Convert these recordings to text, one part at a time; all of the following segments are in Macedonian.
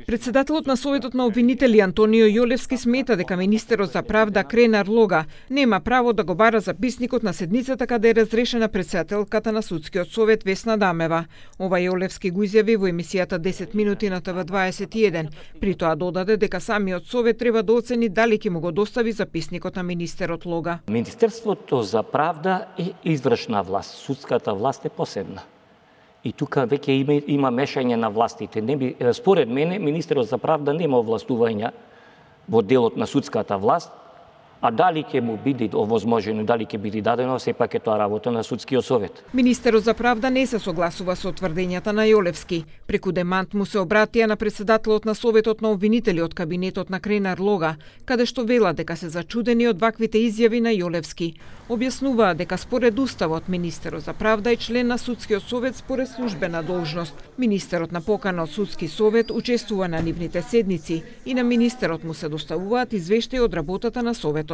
Председателот на Советот на обвинители Антонио Јолевски смета дека министерот за правда Кренар Лога нема право да го бара записникот на седницата каде е разрешена претседателката на Судскиот совет Весна Дамева. Ова Јолевски го изјави во емисијата 10 минути на ТВ21. При тоа додаде дека самиот совет треба да оцени дали ќе му го достави записникот на министерот Лога. Министерството за правда е извршна власт, судската власт е посебна. И тука веќе има мешање на властите. Според мене, министерот за правда нема овластувања во делот на судската власт, а дали ќе му биде овозможено, дали ќе биде дадено, сепак е тоа работа на Судскиот совет. Министерот за правда не се согласува со тврдењата на Јолевски. Преку демант му се обратија на председателот на Советот на обвинители од кабинетот на Кренар Лога, каде што вела дека се зачудени од ваквите изјави на Јолевски. Објаснуваа дека според уставот министерот за правда е член на Судскиот совет според службена должност. Министерот на покана од Судски совет учествува на нивните седници и на министерот му се доставуваат извештаи од работата на Советот.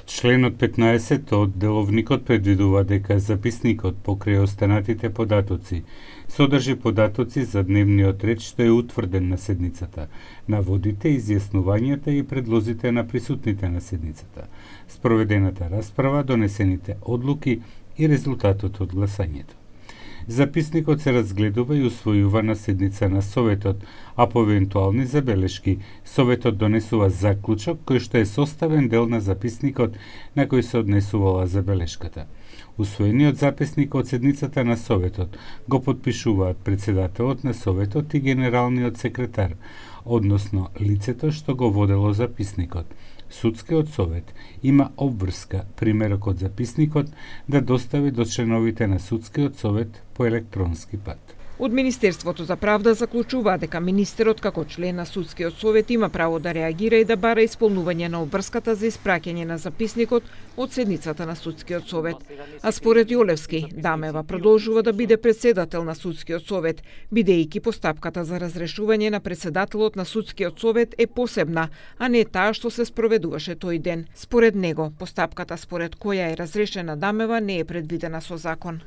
Членот 15 од деловникот предвидува дека записникот покрај останатите податоци содржи податоци за дневниот ред што е утврден на седницата, наводите, изјаснувањата и предлозите на присутните на седницата, спроведената расправа, донесените одлуки и резултатот од гласањето. Записникот се разгледува и усвојува на седница на Советот, а по евентуални забелешки, Советот донесува заклучок кој што е составен дел на записникот на кој се однесувала забелешката. Усвоениот записник од седницата на Советот го подпишуваат председателот на Советот и генералниот секретар, односно лицето што го водело записникот. Судскиот совет има обврска примерок од записникот да достави до членовите на Судскиот совет по електронски пат. Од Министерството за правда заклучува дека министерот како член на Судскиот совет има право да реагира и да бара исполнување на обврската за испраќање на записникот од седницата на Судскиот совет. А според Јолевски, Дамева продолжува да биде председател на Судскиот совет, бидејќи постапката за разрешување на председателот на Судскиот совет е посебна, а не таа што се спроведуваше тој ден. Според него, постапката според која е разрешена Дамева не е предвидена со закон.